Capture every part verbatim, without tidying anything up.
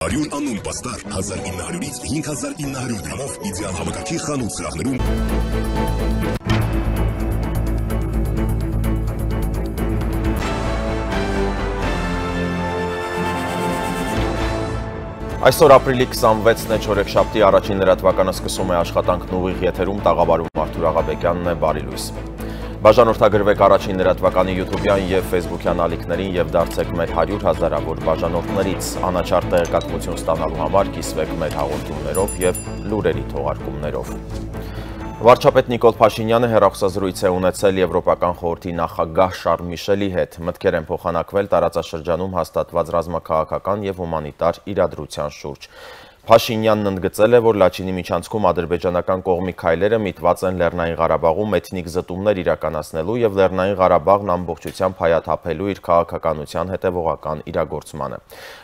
Հարյուր անուն պաստար հազար ինը հարյուրից հինգ հազար ինը հարյուր դրամով իդեալ համակարգի խանութ սրահներում։ Այսօր ապրիլի քսանվեցն է, չորեքշաբթի առաջին լրատվականը սկսում է աշխատանքն ուղիղ եթերում, տաղավարում Արթուր Աղաբեկյանն է, բարի լույս։ Բաժանորդագրվեք առաջին լրատվականի յութուբյան և ֆեյսբուքյան ալիքներին և դարձեք մեր հարյուր հազարավոր բաժանորդներից, անաչառ տեղեկատվություն ստանալու համար կիսվեք մեր հաղորդումներով և լուրերի թողարկումներով։ Վարչապետ Նիկոլ Փաշինյանը հեռախոսազրույց է ունեցել Եվրոպական խորհրդի նախագահ Շարլ Միշելի հետ, մտքեր են փոխանակվել տարածաշրջանում հաստատված ռազմաքաղաքական և հումանիտար իրադրության շուրջ։ Փաշինյանն ընդգծել է, որ Լաչինի միջանցքում ադրբեջանական կողմի քայլերը միտված են Լեռնային Ղարաբաղում էթնիկ զտումներ իրականացնելու և Լեռնային Ղարաբաղն ամբողջությամբ հայաթափելու իր քաղաքականության հետևողական իրագործմանը։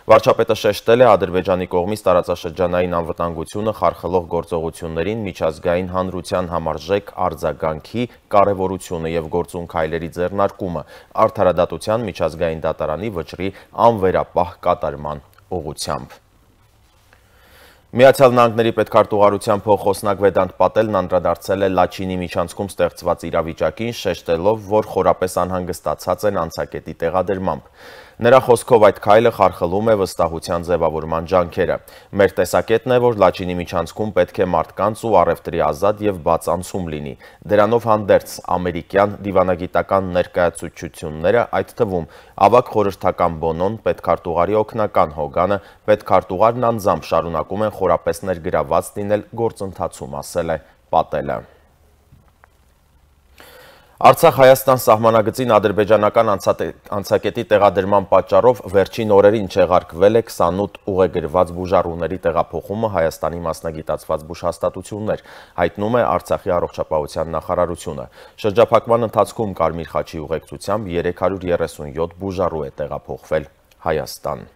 Վարչապետը շեշտել է Ադրբեջանի կողմից տարածաշրջանային անվտանգությունը խարխլող գործողություններին միջազգային հանրության համարժեք արձագանքի կարևորությունը և գործուն քայլերի ձեռնարկումը, արդարադատության միջազգային դատարանի վճռի անվերապահ կատարման ուղղությամբ։ Միացյալ Նահանգների պետքարտուղարության փոխխոսնակ Վեդանտ Պատելն անդրադարձել է Լաչինի միջանցքում ստեղծված իրավիճակին, շեշտելով, որ խորապես անհանգստացած են անցակետի տեղադրմամբ։ Նրա խոսքով այդ քայլը խարխլում է վստահության ձևավորման ջանքերը։ Մեր տեսակետն է, որ Լաչինի միջանցքում պետք է մարդկանց ու առևտրի ազատ և բաց անցում լինի։ Դրանով հանդերձ ամերիկյան դիվանագիտական ներկայացուցչությունները, այդ թվում ավագ խորհրդական Բոնոն, պետքարտուղարի օգնական Հոգանը, պետքարտուղարն անձամբ շարունակում են խորապես ներգրավված լինել գործընթացում, ասել է Պատելը։ Արցախ-Հայաստան սահմանագծին ադրբեջանական անցակետի տեղադրման պատճառով վերջին օրերին չեղարկվել է քսանութ ուղեգրված բուժառուների տեղափոխումը Հայաստանի մասնագիտացված բուժհաստատություններ, հայտնում է Արցախի առողջապահության նախարարությունը։ Շրջափակման ընթացքում Կարմիր խաչի ուղեկցությամբ երեք հարյուր երեսունյոթ բուժառու է տեղափոխվել Հայաստան։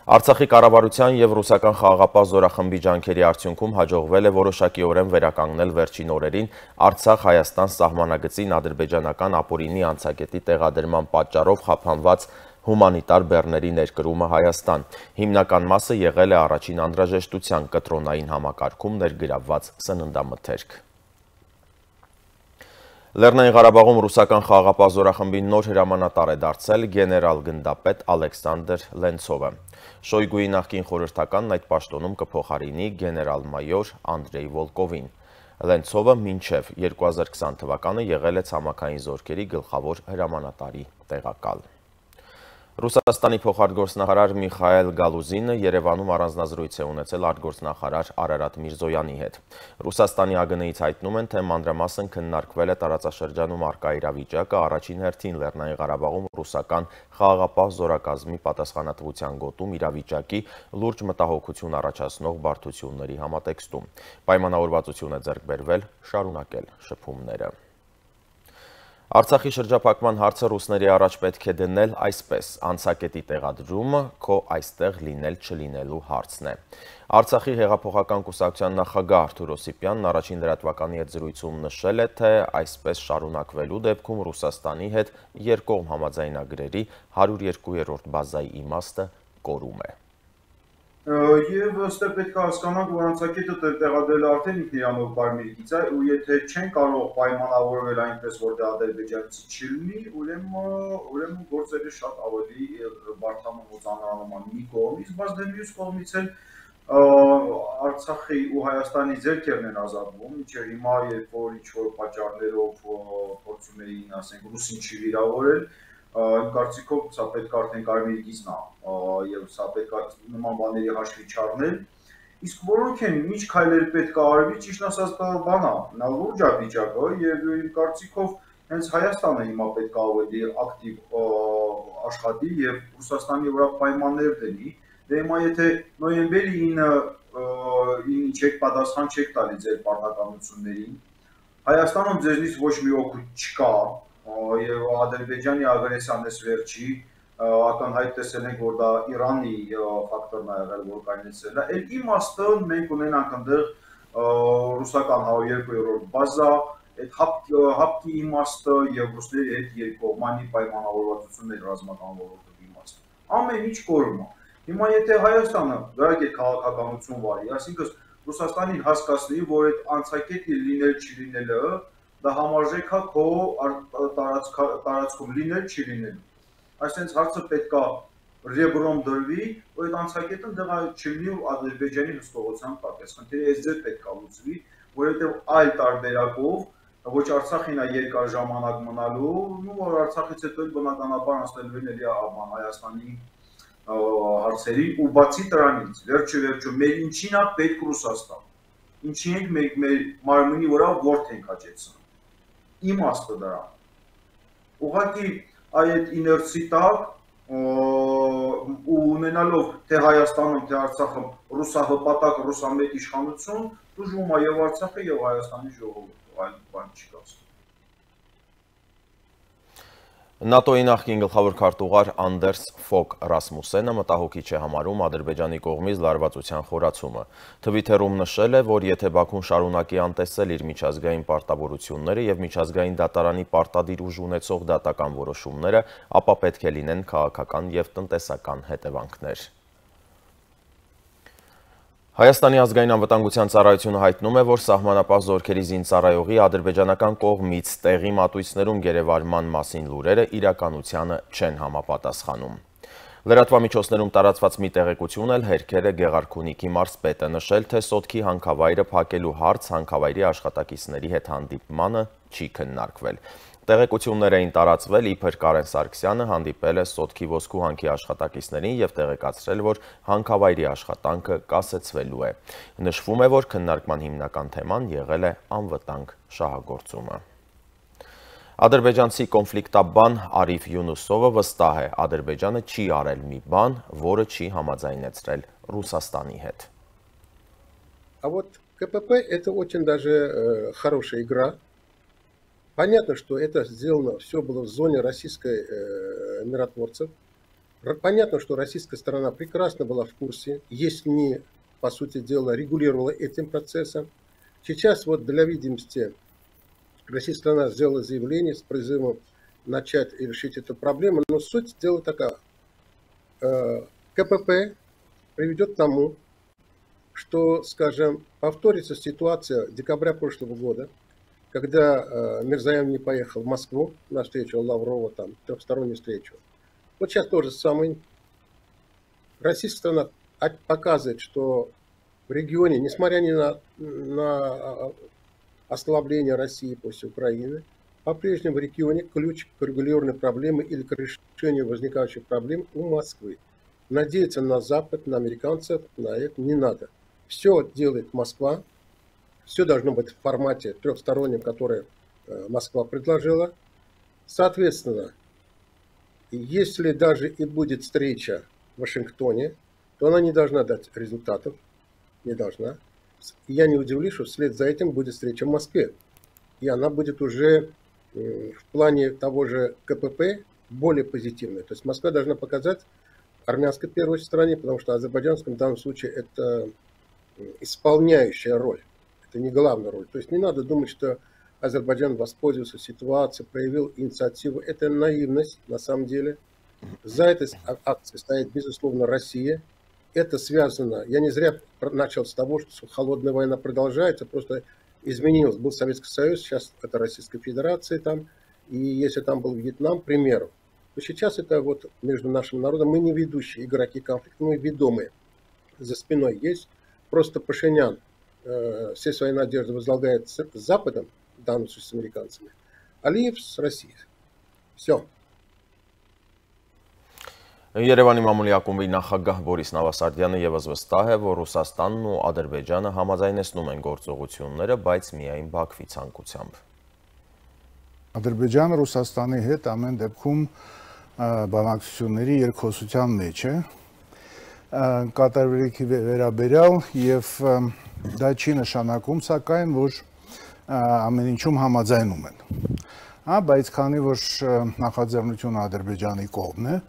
Արցախի կառավարության և ռուսական խաղաղապահ զորախմբի ջանքերի արդյունքում հաջողվել է որոշակիորեն վերականգնել վերջին օրերին Արցախ-Հայաստան սահմանագծին ադրբեջանական ապօրինի անցակետի տեղադրման պատճառով խափանված հումանիտար բեռների ներկրումը Հայաստան։ Հիմնական մասը եղել է առաջին անհրաժեշտության կտրոնային համակարգում ներգրավված սննդամթերք։ Լեռնային Ղարաբաղում ռուսական խաղաղապահ զորախմբի նոր հրամանատար է դարձել գեներալ գնդապետ Ալեքսանդր Լենցովը։ Շոյգուի նախկին խորհրդականն այդ պաշտոնում կփոխարինի գեներալ-մայոր Անդրեյ Վոլկովին։ Լենցովը մինչև երկու հազար քսան թվականը եղել է ցամաքային զորքերի գլխավոր հրամանատարի տեղակալ։ Ռուսաստանի փոխարտգործնախարար Միխայել Գալուզինը Երևանում առանձնազրույց է ունեցել արտգործնախարար Արարատ Միրզոյանի հետ։ Ռուսաստանի ԱԳՆ-ից հայտնում են, թե մանրամասն քննարկվել է տարածաշրջանում առկա իրավիճակը, առաջին հերթին Լեռնային Ղարաբաղում ռուսական խաղաղապահ զորակազմի պատասխանատվության գոտում իրավիճակի լուրջ մտահոգություն առաջացնող բարդությունների համատեքստում։ Պայմանավորվածություն է ձեռք բերվել շարունակել շփումները։ Արցախի շրջափակման հարցը ռուսների առաջ պետք է դնել այսպես. անցակետի տեղադրումը քո այստեղ լինել չլինելու հարցն է։ Արցախի հեղափոխական կուսակցության նախագահ Արթուր Օսիպյանն առաջին լրատվականի հետ զրույցում նշել է, թե այսպես շարունակվելու դեպքում Ռուսաստանի հետ երկկողմ համաձայնագրերի հարյուր երկու-րդ բազայի իմաստը կորում է։ Եվ ըստ պետք է հասկանանք, որ անցակետը տեղադրելը արդեն ինքնիրանով կարմիր գիծ է, ու եթե չեն կարող պայմանավորվել այնպես, որ դա ադրբեջանցի չլինի, ուրեմն գործերը շատ ավելի բարդանում ու ծանրանում են մի կողմից, բայց դե մյուս կողմից էլ Արցախի ու Հայաստանի ձեռքերն են ազատվում, մինչև հիմա, երբ որ ինչ-որ պատճառներով փորձում էին, ասենք, ռուսին չվիրավորել, իմ կարծիքով սա պետք է արդեն կարմիր գիծն է եւ սա պետք է նման բաների հաշվի չառնել, իսկ որոնք են ինչ քայլեր պետք է արվի, ճիշտ ասած բան է, նա լուրջ է վիճակը եւ իմ կարծիքով հենց Հայաստանը հիմա պետք է ավելի ակտիվ աշխատի եւ Ռուսաստանի վրա պայմաններ դնի, դե հիմա եթե նոյեմբերի ինը չեք պատասխան չեք տալի ձեր պարտականություններին, Հայաստանում ձեզնից ոչ մի օգուտ չկա եւ Ադրբեջանի ագրեսիան էս վերջի ակնհայտ տեսել ենք, որ դա Իրանի ֆակտորն է եղել, որ կայնեցրել է։ Էլ իմաստը մենք ունենանք այնտեղ ռուսական հարյուր երկու-րդ բազա, այդ հապկի իմաստը եւ ռուսների հետ երկկողմանի պայմանավորվածություններ ռազմական ոլորտի իմաստը։ Ամեն ինչ կորում է։ Հիմա եթե Հայաստանը դրանք այդ քաղաքականություն վարի, այսինքն Ռուսաստանին հասկացնի, որ այդ անցակետի լինել չի-լինելը դա համարժեք է քո տարածքում լինել չի-լինելու։ Այսինքն հարցը պետք է ռեբրոմ դրվի, որ այդ անցակետը դեղա չլինի ու Ադրբեջանի հսկողության տակ է։ Խնդիրը այս ձև պետք է լուծվի, որովհետև այլ տարբերակով ոչ Արցախին է երկար ժամանակ մնալու, ու որ Արցախից հետո բնականաբար անցնելու են էլի Հայաստանի հարցերին ու բացի դրանից, վերջը վերջը մեր ինչին է պետք Ռուսաստան, ինչի ենք մենք մեր մարմնի վրա ворթ ենք հաճեցնում, իմաստը դրա, ուղղակի այդ իներցի տակ ու ունենալով թե Հայաստանում, թե Արցախում ռուսահպատակ, ռուսամետ իշխանություն, դժվում է և Արցախը և Հայաստանի ժողովուրդը, այլ բան չի կասում։ ՆԱՏՕ-ի նախկին գլխավոր քարտուղար Անդերս Ֆոգ Ռասմուսենը մտահոգիչ է համարում Ադրբեջանի կողմից լարվածության խորացումը։ Թվիթերում նշել է, որ եթե Բաքուն շարունակի անտեսել իր միջազգային պարտավորությունները եւ միջազգային դատարանի պարտադիր ուժ ունեցող դատական որոշումները, ապա պետք է լինեն քաղաքական եւ տնտեսական հետևանքներ։ Հայաստանի ազգային անվտանգության ծառայությունը հայտնում է, որ սահմանապահ զորքերի զինծառայողի ադրբեջանական կողմից տեղի մատույցներում գերեվարման մասին լուրերը իրականությանը չեն համապատասխանում։ Լրատվամիջոցներում տարածված մի տեղեկություն էլ հերքել է Գեղարքունիքի մարզպետը, նշել, թե Սոտքի հանքավայրը փակելու հարց հանքավայրի աշխատակիցների հետ հանդիպմանը չի քննարկվել։ Տեղեկություններ էին տարածվել, իբր Կարեն Սարգսյանը հանդիպել է Սոտքի ոսկու հանքի աշխատակիցներին և տեղեկացրել, որ հանքավայրի աշխատանքը կասեցվելու է։ Նշվում է, որ քննարկման հիմնական թեման եղել է անվտանգ շահագործումը։ Ադրբեջանցի կոնֆլիկտաբան Արիֆ Յունուսովը վստահ է, Ադրբեջանը չի արել մի բան, որը չի համաձայնեցրել Ռուսաստանի հետ։ А вот КПП это очень даже хорошая игра. Понятно, что это сделано, все было в зоне российской э, миротворцев. Понятно, что российская сторона прекрасно была в курсе, если не, по сути дела, регулировала этим процессом. Сейчас вот для видимости российская сторона сделала заявление с призывом начать и решить эту проблему, но суть дела такая. Э, КПП приведет к тому, что, скажем, повторится ситуация декабря прошлого года, когда э, Мирзоян не поехал в Москву на встречу Лаврова, там, трехстороннюю встречу. Вот сейчас то же самое. Российская сторона показывает, что в регионе, несмотря ни на, на ослабление России после Украины, по-прежнему в регионе ключ к регулированной проблеме или к решению возникающих проблем у Москвы. Надеяться на Запад, на американцев, на это не надо. Все делает Москва. Все должно быть в формате трехстороннем, который Москва предложила. Соответственно, если даже и будет встреча в Вашингтоне, то она не должна дать результатов. Не должна. Я не удивлюсь, что вслед за этим будет встреча в Москве. И она будет уже в плане того же КПП более позитивной. То есть Москва должна показать армянской первой стороне, потому что азербайджанском в данном случае это исполняющая роль. Это не главная роль. То есть не надо думать, что Азербайджан воспользовался ситуацией, проявил инициативу. Это наивность на самом деле. За этой акцией стоит, безусловно, Россия. Это связано, я не зря начал с того, что холодная война продолжается, просто изменилось. Был Советский Союз, сейчас это Российская Федерация там. И если там был Вьетнам, к примеру, то сейчас это вот между нашим народом, мы не ведущие игроки конфликта, мы ведомые. За спиной есть. Просто Пашинян э, все свои надежды возлагает с, с Западом, в данном случае с американцами, Алиев с Россией. Все. Երևանի մամուլի ակումբի նախագահ Բորիս Նավասարդյանը ևս վստահ է, որ Ռուսաստանն ու Ադրբեջանը համաձայնեցնում են գործողությունները, բայց միայն Բաքվի ցանկությամբ։ Ադրբեջանը Ռուսաստանի հետ ամեն դեպքում բանակցությունների երկխոսության մեջ է, կատարվելիքի վերաբերյալ եւ դա չի նշանակում, սակայն որ ամեն ինչում համաձայնում են։ Հա, բայց քանի որ նախաձեռնությունը Ադրբեջանի կողմն է,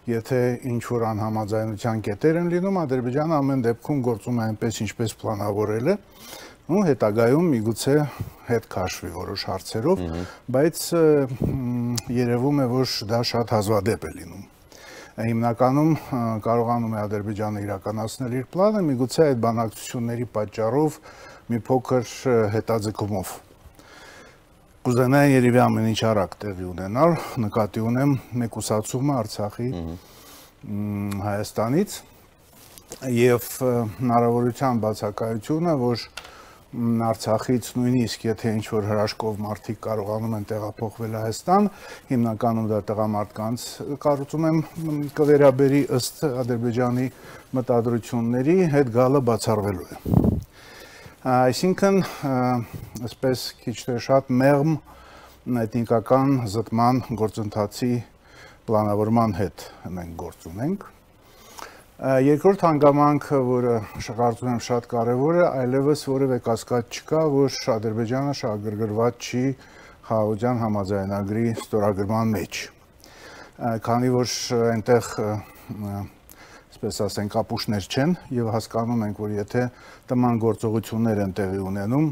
եթե ինչ որ անհամաձայնության կետեր են լինում, Ադրբեջանը ամեն դեպքում գործում է այնպես, ինչպես պլանավորել է, ու հետագայում միգուցե հետ քաշվի որոշ հարցերով, բայց երևում է, որ դա շատ հազվադեպ է լինում։ հիմնականում կարողանում է Ադրբեջանը իրականացնել իր պլանը, միգուցե այդ բանակցությունների պատճառով մի փոքր հետաձգումով։ Կուզենայի երևի ամեն ինչ արագ տեղի ունենալ, նկատի ունեմ մեկուսացումը Արցախի Հայաստանից եւ հնարավորության բացակայությունը, որ Արցախից նույնիսկ եթե ինչ-որ հրաշքով մարդիկ կարողանում են տեղափոխվել Հայաստան, հիմնականում դա տղամարդկանց կարծում եմ կվերաբերի ըստ Ադրբեջանի մտադրությունների հետ գալը բացառվելու է։ Այսինքն, այսպես քիչ թե շատ մեղմ էթնիկական զտման գործընթացի պլանավորման հետ մենք գործ ունենք։ Երկրորդ հանգամանքը, որը կարծում եմ շատ կարևոր է, այլևս որևէ կասկած չկա, որ Ադրբեջանը շահագրգռված չի խաղաղության համաձայնագրի ստորագրման մեջ։ Քանի որ այնտեղ, այսպես ասենք, ապուշներ չեն եւ հասկանում ենք, որ եթե տման գործողություններ են տեղի ունենում,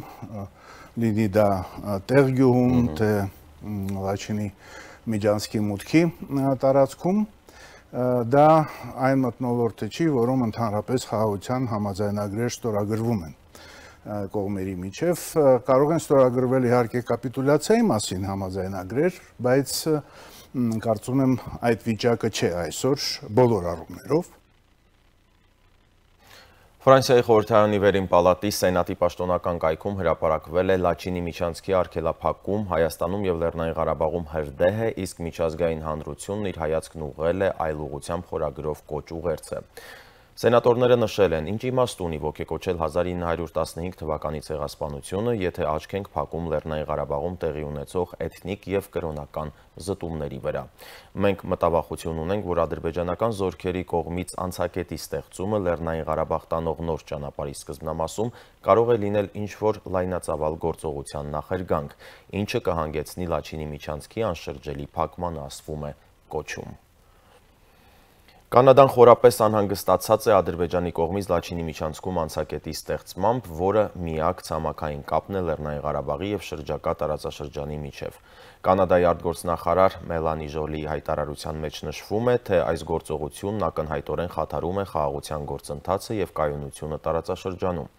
լինի դա Տեղգյուղում, թե Լաչինի Միջանցքի մուտքի տարածքում, դա այն մթնոլորտը չի, որում ընդհանրապես խաղաղության համաձայնագրեր ստորագրվում են կողմերի միջև, կարող են ստորագրվել իհարկե կապիտուլյացիայի մասին համաձայնագրեր, բայց կարծում եմ այդ վիճակը չէ այսօր բոլոր առումներով։ Ֆրանսիայի խորհրդարանի վերին պալատի սենատի պաշտոնական կայքում հրապարակվել է Լաչինի միջանցքի արգելափակում Հայաստանում եւ Լեռնային Ղարաբաղում հրդեհ է, իսկ միջազգային հանրությունն իր հայացքն ուղղել է այլ ուղղությամբ խորագրով կոչ ուղերձը։ Սենատորները նշել են, ինչ իմաստ ունի ոգեկոչել հազար ինը հարյուր տասնհինգ թվականի ցեղասպանությունը, եթե աչք ենք փակում Լեռնային Ղարաբաղում տեղի ունեցող էթնիկ եւ կրոնական զտումների վրա։ Մենք մտավախություն ունենք, որ ադրբեջանական զորքերի կողմից անցակետի ստեղծումը Լեռնային Ղարաբաղ տանող նոր ճանապարհի սկզբնամասում կարող է լինել ինչ-որ լայնածավալ գործողության նախերգանք, ինչը կհանգեցնի Լաչինի միջանցքի անշրջելի փակմանը, ասվում է կոչում։ Կանադան խորապես անհանգստացած է Ադրբեջանի կողմից Լաչինի միջանցքում անցակետի ստեղծմամբ, որը միակ ցամաքային կապն է Լեռնային Ղարաբաղի եւ շրջակա տարածաշրջանի միջև։ Կանադայի արտգործնախարար Մելանի Ժոլիի հայտարարության մեջ նշվում է, թե այս գործողությունն ակնհայտորեն խաթարում է խաղաղության գործընթացը եւ կայունությունը տարածաշրջանում։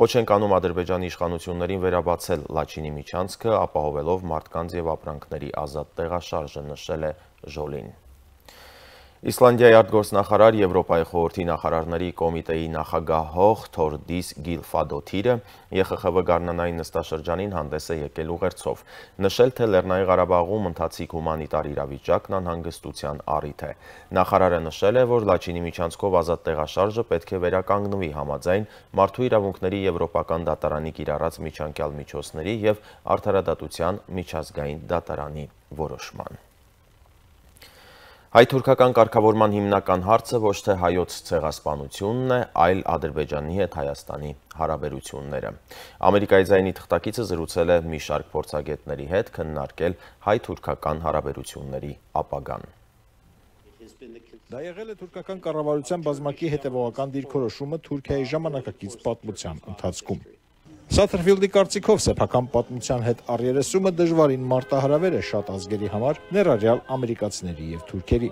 Կոչ ենք անում Ադրբեջանի իշխանություններին վերաբացել Լաչինի միջանցքը, ապահովելով մարդկանց եւ ապրանքների ազատ տեղաշարժը, նշել է Ժոլին։ Իսլանդիայի արտգործնախարար Եվրոպայի խորհրդի նախարարների կոմիտեի նախագահող Թորդիս Գիլֆադոթիրը Է Խ Խ V գարնանային նստաշրջանին հանդես է եկել ուղերձով, նշել, թե Լեռնային Ղարաբաղում ընթացիկ հումանիտար իրավիճակն անհանգստության առիթ է։ Նախարարը նշել է, որ Լաչինի միջանցքով ազատ տեղաշարժը պետք է վերականգնվի համաձայն Մարդու իրավունքների Եվրոպական դատարանի կիրառած միջանկյալ միջոցների եւ Արդարադատության միջազգային դատարանի որոշման։ Հայ-թուրքական կարգավորման հիմնական հարցը ոչ թե հայոց ցեղասպանությունն է, այլ Ադրբեջանի հետ Հայաստանի հարաբերությունները։ Ամերիկայի ձայնի թղթակիցը զրուցել է մի շարք փորձագետների հետ, քննարկել հայ-թուրքական հարաբերությունների ապագան։ Դա եղել է թուրքական կառավարության բազմակի հետևողական դիրքորոշումը Թուրքիայի ժամանակակից պատմության ընթացքում։ Սաթերֆիլդի կարծիքով սեփական պատմության հետ առերեսումը դժվարին մարտահրավեր է շատ ազգերի համար, ներառյալ ամերիկացիների եւ թուրքերի։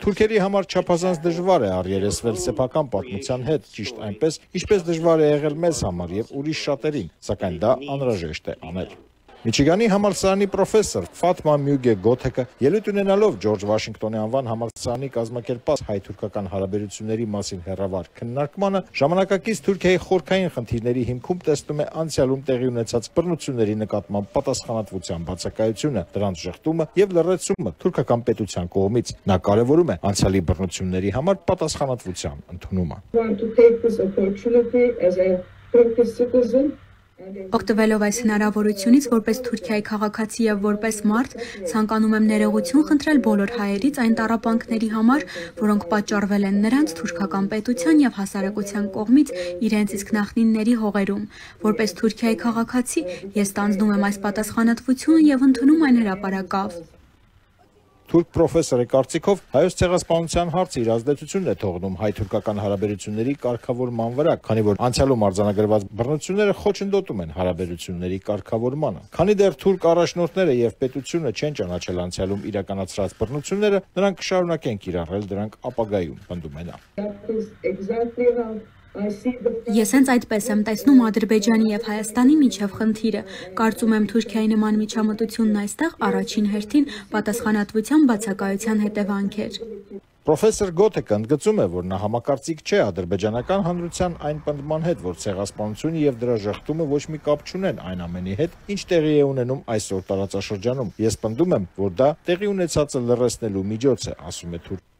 Թուրքերի համար չափազանց դժվար է առերեսվել սեփական պատմության հետ, ճիշտ այնպես, ինչպես դժվար է եղել մեզ համար եւ ուրիշ շատերին, սակայն դա անհրաժեշտ է անել։ Միչիգանի համալսարանի պրոֆեսոր Ֆաթմա Մյուգե Գոթեկը ելույթ ունենալով Ջորջ Վաշինգտոնի անվան համալսարանի կազմակերպած հայ-թուրքական հարաբերությունների մասին հերավար քննարկմանը ժամանակակից Թուրքիայի խորքային խնդիրների հիմքում տեսնում է անցյալում տեղի ունեցած բռնությունների նկատմամբ պատասխանատվության բացակայությունը, դրանց ժխտումը եւ լրացումը թուրքական պետության կողմից։ Նա կարևորում է անցյալի բռնությունների համար պատասխանատվության ընդունումը։ Օգտվելով այս հնարավորությունից որպես Թուրքիայի քաղաքացի եւ որպես մարդ ցանկանում եմ ներողություն խնդրել բոլոր հայերից այն տառապանքների համար, որոնք պատճառվել են նրանց թուրքական պետության եւ հասարակության կողմից իրենց իսկ նախնիների հողերում։ Որպես Թուրքիայի քաղաքացի ես ստանձնում եմ այս պատասխանատվությունը եւ ընդունում այն հրապարակավ։ Թուրք պրոֆեսորի կարծիքով հայոց ցեղասպանության հարցը իր ազդեցությունն է թողնում հայ-թուրքական հարաբերությունների կարգավորման վրա, քանի որ անցյալում արձանագրված բռնությունները խոչընդոտում են հարաբերությունների կարգավորմանը։ Քանի դեռ թուրք առաջնորդները եւ պետությունը չեն ճանաչել անցյալում իրականացրած բռնությունները, նրանք կշարունակեն կիրառել դրանք ապագայում, պնդում է նա։ Ես հենց այդպես եմ տեսնում Ադրբեջանի եւ Հայաստանի միջև խնդիրը։ Կարծում եմ Թուրքիայի նման միջամտությունն այստեղ առաջին հերթին պատասխանատվության բացակայության հետևանք էր։ Պրոֆեսոր Գոթեկը ընդգծում է, որ նա համակարծիք չէ ադրբեջանական հանրության այն պնդման հետ, որ ցեղասպանությունը եւ դրա ժխտումը ոչ մի կապ չունեն այն ամենի հետ, ինչ տեղի է ունենում այսօր տարածաշրջանում։ Ես պնդում եմ, որ դա տեղի ունեցածը լրացնելու միջոց է, ասում է Թուրքիան։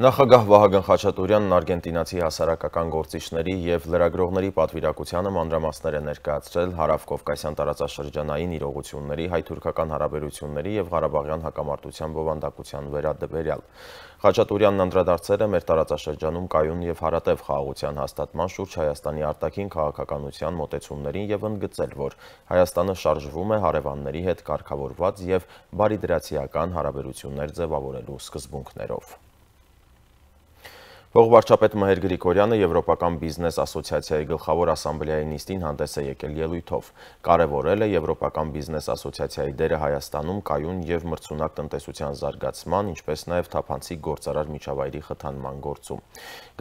Նախագահ Վահագն Խաչատուրյանն արգենտինացի հասարակական գործիչների եւ լրագրողների պատվիրակությանը մանրամասներ է ներկայացրել հարավկովկասյան տարածաշրջանային իրողությունների, հայ-թուրքական հարաբերությունների եւ Ղարաբաղյան հակամարտության բովանդակության վերաբերյալ։ Խաչատուրյանն անդրադարձել է մեր տարածաշրջանում կայուն եւ հարատև խաղաղության հաստատման շուրջ Հայաստանի արտաքին քաղաքականության մոտեցումներին եւ ընդգծել, որ Հայաստանը շարժվում է հարևանների հետ կարգավորված եւ բարիդրացիական հարաբերություններ ձևավորելու սկզբունքներով։ Փոխվարչապետ Մհեր Գրիգորյանը Եվրոպական բիզնես ասոցիացիայի գլխավոր ասամբլեայի նիստին հանդես է եկել ելույթով։ Կարևորել է Եվրոպական բիզնես ասոցիացիայի դերը Հայաստանում կայուն եւ մրցունակ տնտեսության զարգացման, ինչպես նաեւ թափանցիկ գործարար միջավայրի խթանման գործում։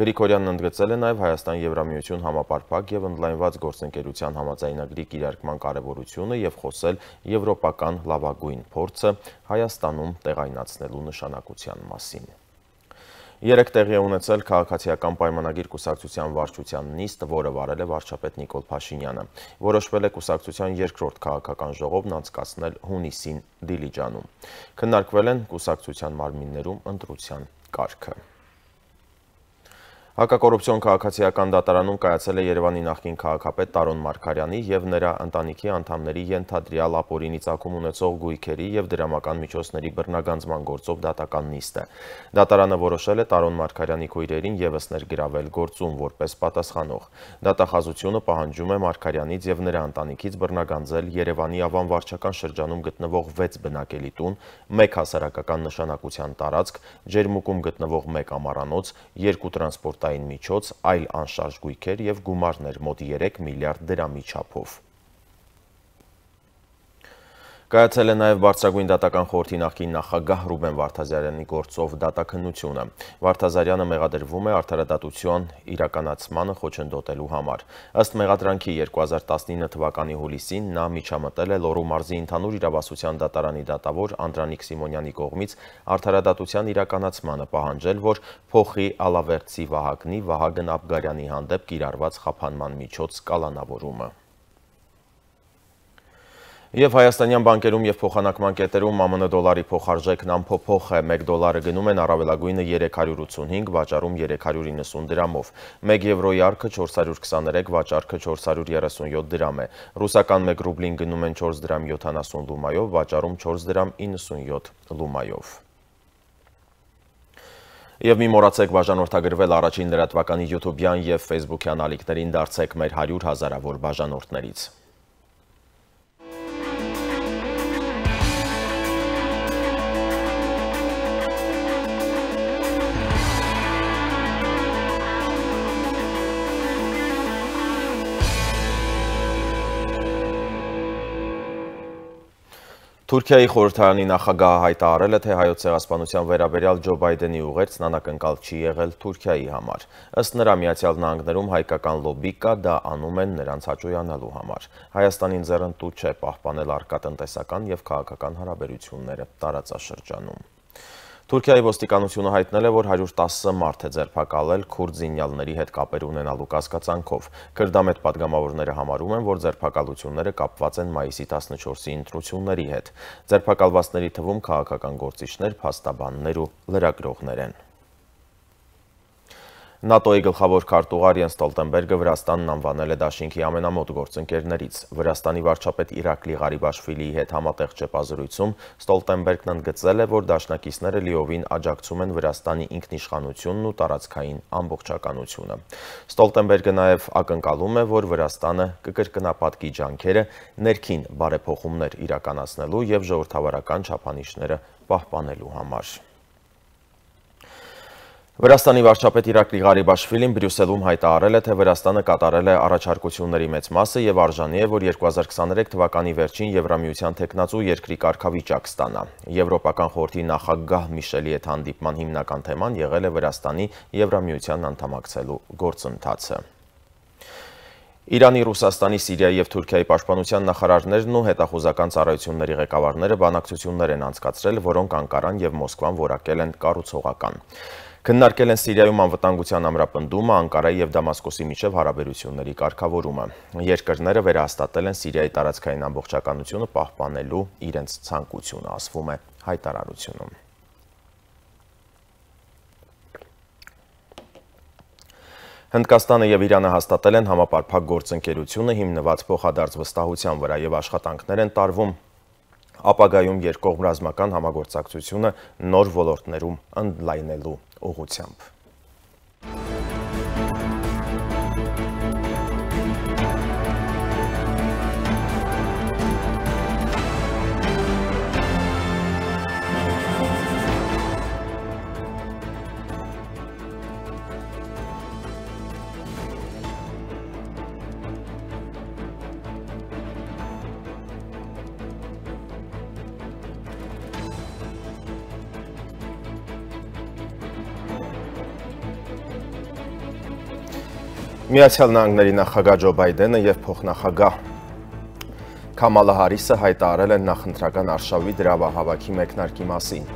Գրիգորյանն ընդգծել է նաեւ Հայաստան-Եվրամիություն համապարփակ եւ ընդլայնված գործընկերության համաձայնագրի կիրարկման կարևորությունը եւ խոսել եվրոպական լավագույն փորձը Հայաստանում տեղայնացնելու նշանակության մասին։ Երեք տեղի է ունեցել քաղաքացիական պայմանագիր կուսակցության վարչության նիստ, որը վարել է վարչապետ Նիկոլ Փաշինյանը։ Որոշվել է կուսակցության երկրորդ քաղաքական ժողովն անցկացնել հունիսին Դիլիջանում։ Քննարկվել են կուսակցության մարմիններում ընտրության կարգը։ Հակակոռուպցիոն քաղաքացիական դատարանում կայացել է Երևանի նախկին քաղաքապետ Տարոն Մարգարյանի եւ նրա ընտանիքի անդամների ենթադրյալ ապօրինի ծագում ունեցող գույքերի եւ դրամական միջոցների բռնագանձման գործով դատական նիստը։ Դատարանը որոշել է Տարոն Մարգարյանի քույրերին եւս ներգրավել գործում որպես պատասխանող։ Դատախազությունը պահանջում է Մարգարյանից եւ նրա ընտանիքից բռնագանձել Երևանի Ավան վարչական շրջանում գտնվող վեց բնակելի տուն, մեկ հասարակական նշանակության տարածք, Ջերմուկում գտնվող մեկ ամառանոց, երկու տրանսպորտ միջոց, այլ անշարժ գույքեր եւ գումարներ մոտ երեք միլիարդ դրամի չափով։ Կայացել է նաև Բարձրագույն դատական խորհրդի նախկին նախագահ Ռուբեն Վարդազարյանի գործով դատաքննությունը։ Վարդազարյանը մեղադրվում է արդարադատության իրականացմանը խոչընդոտելու համար։ Ըստ մեղադրանքի երկու հազար տասնինը թվականի հուլիսին նա միջամտել է Լոռու մարզի ընդհանուր իրավասության դատարանի դատավոր Անդրանիկ Սիմոնյանի կողմից արդարադատության իրականացմանը, պահանջել, որ փոխի Ալավերդցի Վահագնի Վահագն Աբգարյանի հանդեպ կիրառված խափանման միջոց կալանավորումը։ Եվ հայաստանյան բանկերում եւ փոխանակման կետերում ԱՄՆ դոլարի փոխարժեքն անփոփոխ է, մեկ դոլարը գնում են առավելագույնը երեք հարյուր ութսունհինգ, վաճառում երեք հարյուր իննսուն դրամով, մեկ եվրոյի առքը չորս հարյուր քսաներեք, վաճառքը չորս հարյուր երեսունյոթ դրամ է, ռուսական մեկ ռուբլին գնում են չորս դրամ յոթանասուն լումայով, վաճառում չորս դրամ իննսունյոթ լումայով։ Եվ մի մոռացեք բաժանորդագրվել առաջին լրատվականի յութուբյան եւ ֆեյսբուքյան ալիքներին, դարձեք մեր հարյուր հազարավոր բաժանորդներից։ Թուրքիայի խորհրդարանի նախագահը հայտարարել է, թե հայոց ցեղասպանության վերաբերյալ Ջո Բայդենի ուղերձն անակնկալ չի եղել Թուրքիայի համար։ Ըստ նրա Միացյալ Նահանգներում հայկական լոբի կա, դա անում են նրանց հաճոյանալու համար։ Հայաստանին ձեռնտու չէ պահպանել առկա տնտեսական եւ քաղաքական հարաբերությունները տարածաշրջանում։ Թուրքիայի ոստիկանությունը հայտնել է, որ հարյուր տասը մարդ է ձերբակալել քուրդ զինյալների հետ կապեր ունենալու կասկածանքով։ Քրդամետ պատգամավորները համարում են, որ ձերբակալությունները կապված են մայիսի տասնչորսի ընտրությունների հետ։ Ձերբակալվածների թվում քաղաքական գործիչներ, փաստաբաններ ու լրագրողներ են։ ՆԱՏՕ-ի գլխավոր քարտուղար Յենս Ստոլտենբերգը Վրաստանն անվանել է դաշինքի ամենամոտ գործընկերներից։ Վրաստանի վարչապետ Իրակլի Ղարիբաշվիլիի հետ համատեղ ճեպազրույցում Ստոլտենբերգն ընդգծել է, որ դաշնակիցները լիովին աջակցում են Վրաստանի ինքնիշխանությունն ու տարածքային ամբողջականությունը։ Ստոլտենբերգը նաև ակնկալում է, որ Վրաստանը կկրկնապատկի ջանքերը ներքին բարեփոխումներ իրականացնելու և ժողովրդավարական չափանիշները պահպանելու համար։ Վրաստանի վարչապետ Իրակլի Ղարիբաշվիլին Բրյուսելում հայտարարել է, թե Վրաստանը կատարել է առաջարկությունների մեծ մասը և արժանի է, որ երկու հազար քսաներեք թվականի վերջին Եվրամիության թեկնածու երկրի կարգավիճակ ստանա։ Եվրոպական խորհրդի նախագահ Միշելի հետ հանդիպման հիմնական թեման եղել է Վրաստանի Եվրամիության անդամակցելու գործընթացը։ Իրանի, Ռուսաստանի, Սիրիայի և Թուրքիայի պաշտպանության նախարարներն ու հետախուզական ծառայությունների ղեկավարները բանակցություններ են անցկացրել, որոնք Անկարան և Մոսկվան որակել են կառուցողական։ Քննարկել են Սիրիայում անվտանգության ամրապնդումը, Անկարայի և Դամասկոսի միջև հարաբերությունների կարգավորումը։ Երկրները վերահաստատել են Սիրիայի տարածքային ամբողջականությունը պահպանելու իրենց ցանկությունը, ասվում է հայտարարությունում։ Հնդկաստանը և Իրանը հաստատել են համապարփակ գործընկերությունը հիմնված փոխադարձ վստահության վրա և աշխատանքներ են տարվում ապագայում երկկողմ ռազմական համագործակցությունը նոր ոլորտներում ընդլայնելու ուղղությամբ։ Միացյալ Նահանգների նախագահ Ջո Բայդենը և փոխնախագահ Քամալա Հարիսը հայտարարել են նախընտրական արշավի դրամահավաքի մեկնարկի մասին։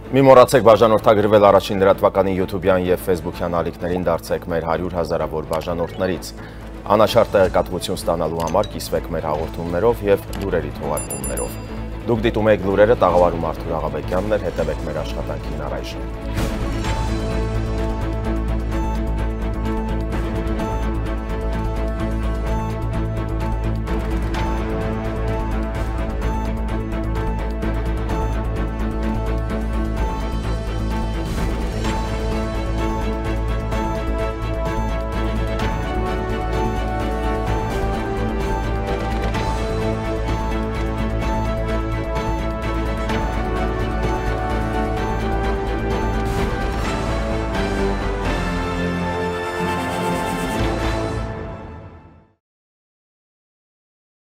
Մի մոռացեք բաժանորդագրվել առաջին լրատվականի յութուբյան և ֆեյսբուքյան ալիքներին, դարձեք մեր հարյուր հազարավոր բաժանորդներից։ Անաչառ տեղեկատվություն ստանալու համար կիսվեք մեր հաղորդումներով և լուրերի թողարկումներով։ Դուք դիտում եք լուրերը, տաղավարում Արթուր Աղաբեկյանն էր, հետևեք մեր աշխատանքին առայժմ։